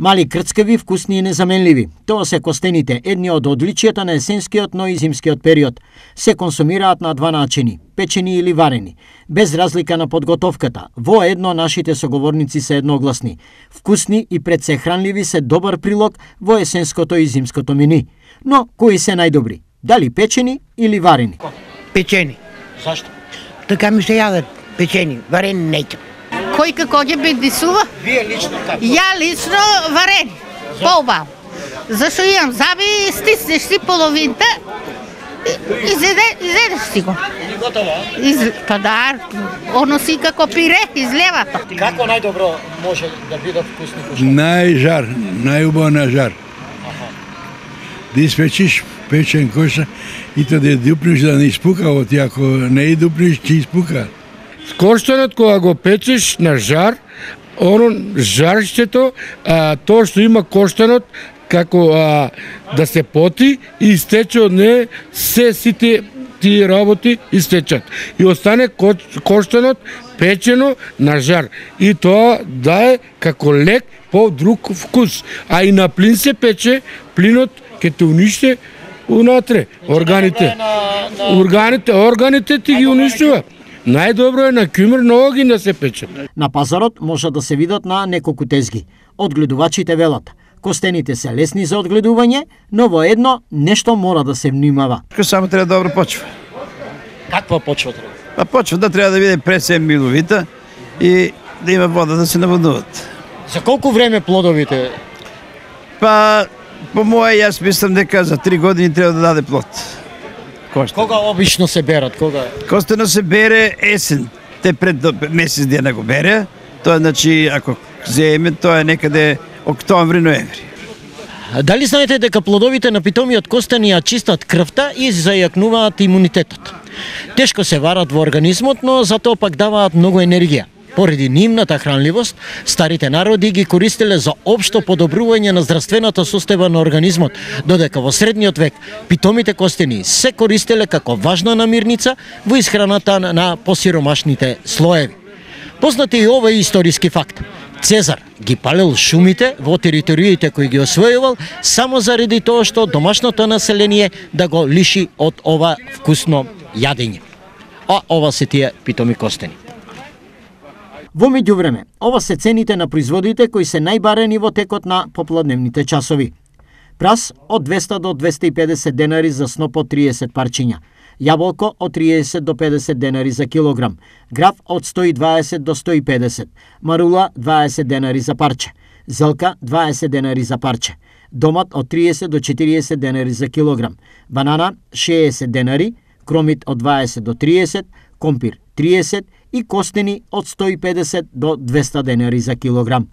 Мали крцкави, вкусни и незаменливи. Тоа се костените, едни од одличијата на есенскиот, но и зимскиот период. Се консумираат на два начини, печени или варени, без разлика на подготовката. Во едно нашите соговорници се едногласни. Вкусни и пред се хранливи се добар прилог во есенското и зимското мени. Но кои се најдобри? Дали печени или варени? Печени. Зашто? Така ми се јадат печени, варени неќам. Кој како ќе бедисува? Вие лично како? Ја лично варени. Поубаво. Зашто имам заби, стиснеш си половинта и изедеш си го. И готово? Па да, оно си како пире, излевато. Како најдобро може да бидат вкусни кушања? Најжар, најубаво на жар. Да испечиш печен коша и тоа да дупнеш да не испука, оти ако не дупнеш, ќе испука. Корштенот кога го печеш на жар, оно жарштето, тоа што има корштенот, како да се поти и истече од неј се сите тие работи истечат. И остане корштенот печено на жар. И тоа дае како лек по друг вкус. А и на плин се пече, плинот ќе те униште унатре. Органите ти ги уништува. Најдобро е на кјумир ново ги да се пече. На пазарот може да се видат на неколку тезги. Одгледувачите велат, костените се лесни за одгледување, но во едно нешто мора да се внимава. Само треба добра почва. Каква почва треба? А почвата треба да биде пресем миловита и да има вода да се наводнуват. За колку време плодовите? Па, по моje, јас мислам дека за 3 години треба да даде плод. Кога обично се берат? Кога? Костено се бере есен. Те пред месец дена го бере. Тоа значи, ако земе, тоа е некаде октомври-ноември. Дали знаете дека плодовите на питомиот костен ја чистат крвта и зајакнуваат имунитетот? Тешко се варат во организмот, но затоа пак даваат многу енергија. Поради нивната хранливост, старите народи ги користеле за општо подобрување на здравствената состојба на организмот, додека во средниот век питомите костени се користеле како важна намирница во исхраната на посиромашните слоеви. Познат е и овој историски факт. Цезар ги палел шумите во териториите кои ги освојувал само заради тоа што домашното население да го лиши од ова вкусно јадење. А ова се тие питоми костени. Во меѓувреме, ова се цените на производите кои се најбарени во текот на попладневните часови. Прас од 200 до 250 денари за сноп од 30 парчиња, јаболко од 30 до 50 денари за килограм, граф од 120 до 150, марула 20 денари за парче, зелка 20 денари за парче, домат од 30 до 40 денари за килограм, банана 60 денари, кромит од 20 до 30, компир 30 и костени од 150 до 200 денари за килограм.